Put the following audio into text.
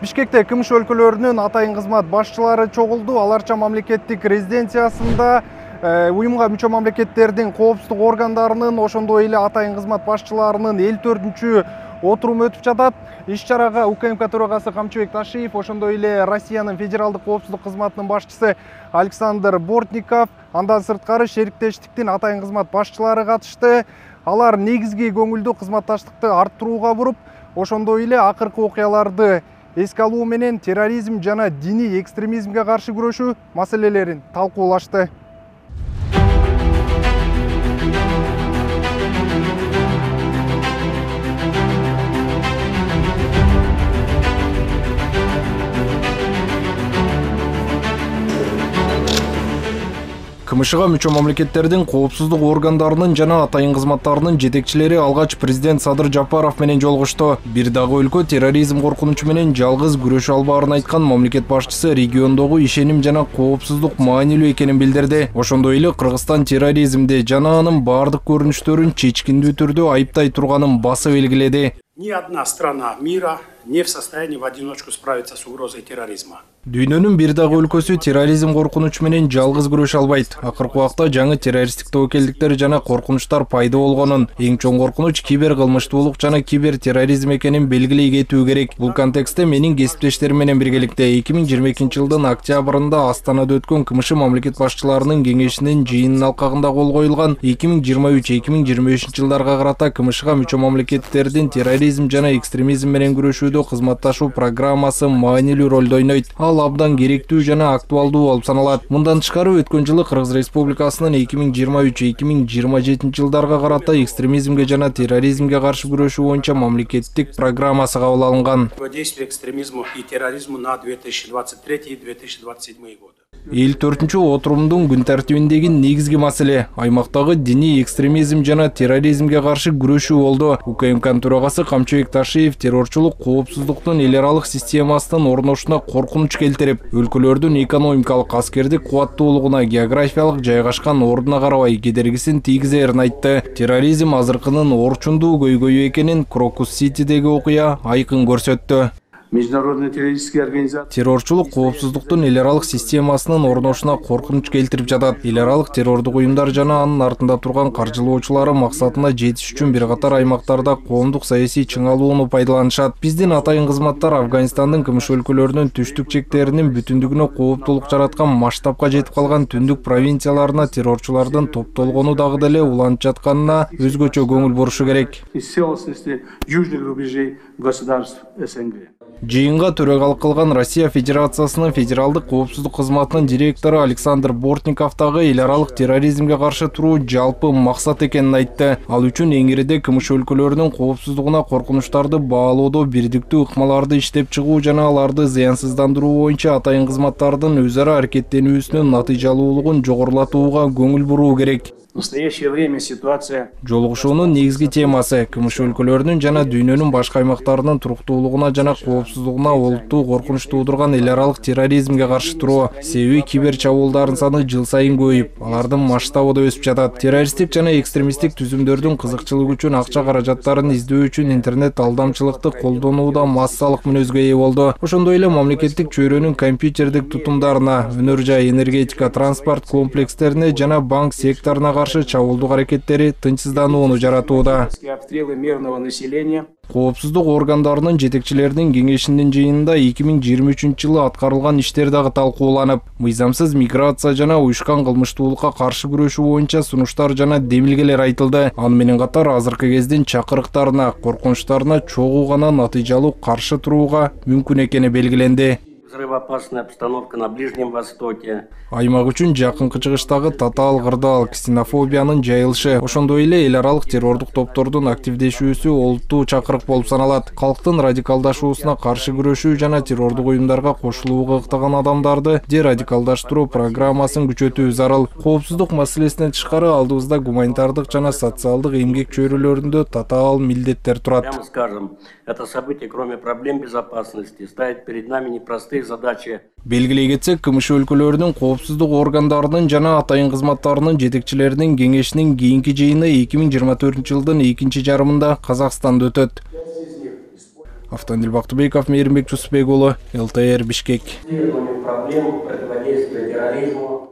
Бишкекте КМШ өлкөлөрүнүн атайын кызмат башчылары чогулду. Аларча мамлекеттик резиденциясында уюмга мүчө мамлекеттердин коопсуздук органдарынын, ошондой эле атайын кызмат башчыларынын 54-чү отуруму өтүп жатат. Иш-чарага УКМК төрагасы Камчыбек Ташиев, ошондой эле Россиянын федералдык коопсуздук кызматынын башчысы Александр Бортников, андан сырткары шериктештиктин атайын кызмат башчылары катышты. Алар негизги көңүлдү кызматташтыкты арттырууга буруп, ошондой эле акыркы окуяларды эске алуу менен терроризм жана диний экстремизмге каршы күрөшүү маселелерин талкуулашты. КМШга мүчө мамлекеттердин коопсуздук органдарынын жана атайын кызматтарынын жетекчилери алгач президент Садыр Жапаров менен жолугушту. Бир дагы өлкө терроризм коркунучу менен жалгыз күрөшө албаарын айткан мамлекет башчысы региондогу ишеним жана коопсуздук маанилүү экенин билдирди. Ошондой эле Кыргызстан терроризмди жана анын бардык көрүнүштөрүн чечкиндүү түрдө айыптай турганын басып белгиледи. Ни одна страна мира не в состоянии в одиночку справиться с угрозой терроризма. Дүйнөнүн бир дагы өлкөсү терроризм коркунучу менен жалгыз күрөшө албайт. Акыркы убакта жаңы террористтик тобокелдиктер жана коркунучтар пайда болгонун, эң чоң коркунуч кибер кылмыштуулук жана кибер терроризм экенин белгилей кетүү керек. Бул контекстте менин кесиптештерим менен биргеликте 2022 жылдын октябрында Астанада өткөн КМШ мамлекет башчыларынын кеңешинин жыйынынын алкагында кол коюлган 2023-2025 жылдарга карата КМШга мүчө мамлекеттердин терроризм жана экстремизм менен күрөшүүдө кызматташуу программасы маанилүү ролду ойнойт. Ал абдан керектүү жана актуалдуу болуп саналат. Мындан тышкары өткөн жылы Кыргыз Республикасынын 2023-2027 жылдарга карата экстремизмге жана терроризмге каршы күрөшүү боюнча мамлекеттик программасы кабыл алынган. Противодействие экстремизму и терроризму на 2023-2027 годы. 54-чү отурумдун күн тартибиндеги негизги маселе аймактагы диний экстремизм жана терроризмге каршы күрөшүү болду. УКМК төрагасы Камчыбек Ташиев террорчулук коопсуздуктун эл аралык системасынын орношуна коркунуч келтирип, өлкөлөрдүн экономикалык аскердик кубаттуулугуна, географиялык жайгашкан ордуна карабай кедергисин тийгизерин айтты. Терроризм азыркынын орчундуу көйгөйү экенин Крокус-Ситидеги окуя айкын көрсөттү. Международная террористическая организация террорчулук коопсуздуктун эл аралык системасынын орношуна коркунуч келтирип жатат. Эл аралык террордук уюмдар жана анын артында турган каржылоочулары максатына жетиш үчүн бир катар аймактарда коомдук саясий чыңалууну пайдаланышат. Биздин атайын кызматтар Афганистандын КМШ өлкөлөрүнүн түштүк чектеринин бүтүндүгүнө кооптулук жараткан масштабка жетип калган түндүк провинцияларына террорчулардын топтолгону дагы деле уланып жатканына өзгөчө көңүл бурушу керек. южных рубежей государств СНГ. Жыйынга төрагалык кылган Россия Федерациясынын федералдык коопсуздук кызматынын директору Александр Бортников дагы эл аралык терроризмге каршы туруу жалпы максат экенин айтты. Ал үчүн эңириде КМШ өлкөлөрүнүн коопсуздугуна коркунучтарды баалоодо бирдиктүү ыкмаларды иштеп чыгуу жана аларды зыянсыздандыруу боюнча атайын кызматтардын өз ара аракеттенүүсүнүн натыйжалуулугун жогорулатууга көңүл буруу керек. В настоящее время ситуация Жолугушуунун негизги темасы КМШ өлкөлөрүнүн жана дүйнөнүн башка аймактарынын туруктуулугуна жана коопсуздугуна олуттуу коркунуч туудурган эл аралык терроризмге каршы туруу. Себеби кибер чабуулдардын саны жыл сайын көбөйүп, алардын масштабы да өсүп жатат. Террористтик жана экстремисттик түзүмдөрдүн кызыкчылыгы үчүн акча каражаттарын издөө үчүн интернет алдамчылыкты колдонууда массалык мүнөзгө ээ болду. Ошондой эле мамлекеттик чөйрөнүн компьютердик тутумдарына, өнөр жай, энергетика, транспорт комплекстерине жана банк секторуна каршы чабуулдук аракеттери тынчсызданууну жаратууда. обстрелы мирного населения. Коопсуздук органдарынын жетекчилеринин кеңешинин жыйынында 2023 жылы аткарылган иштер дагы талкууланып, мыйзамсыз миграция жана уюшкан кылмыштуулукка каршы күрөшүү боюнча сунуштар жана демилгелер айтылды. Аны менен катар азыркы кездин чакырыктарына, коркунучтарына чогуу гана натыйжалуу каршы турууга мүмкүн экени белгиленди. Взрывоопасная обстановка на Ближнем Востоке. Аймак үчүн жакынкы чыгыштагы татаал кырдаал, ксенофобиянын жайылышы, ошондой эле эл аралык террордук топтордун активдешүүсү олуттуу чакырык болуп саналат. Калктын радикалдашуусуна каршы күрөшүү жана террордук уюмдарга кошулууга ыктаган адамдарды дерадикалдаштыруу программасын күчөтүү зарыл. Коопсуздук маселесинен тышкары алдыбызда гуманитардык жана социалдык эмгек чөйрөлөрүндө татаал милдеттер турат. Прямо скажем, это событие, кроме проблем безопасности, ставит перед нами непростые задачи. Белгилей кетсек, КМШ өлкөлөрүнүн коопсуздук органдарынын жана атайын кызматтарынын жетекчилеринин кеңешинин кийинки жыйыны 2024 жылдын экинчи жарымында Казакстанда өтөт. Автандил Бактыбеков, Мейирбек Жусупбек уулу, ЛТР, Бишкек. Проблем противодействия терроризму.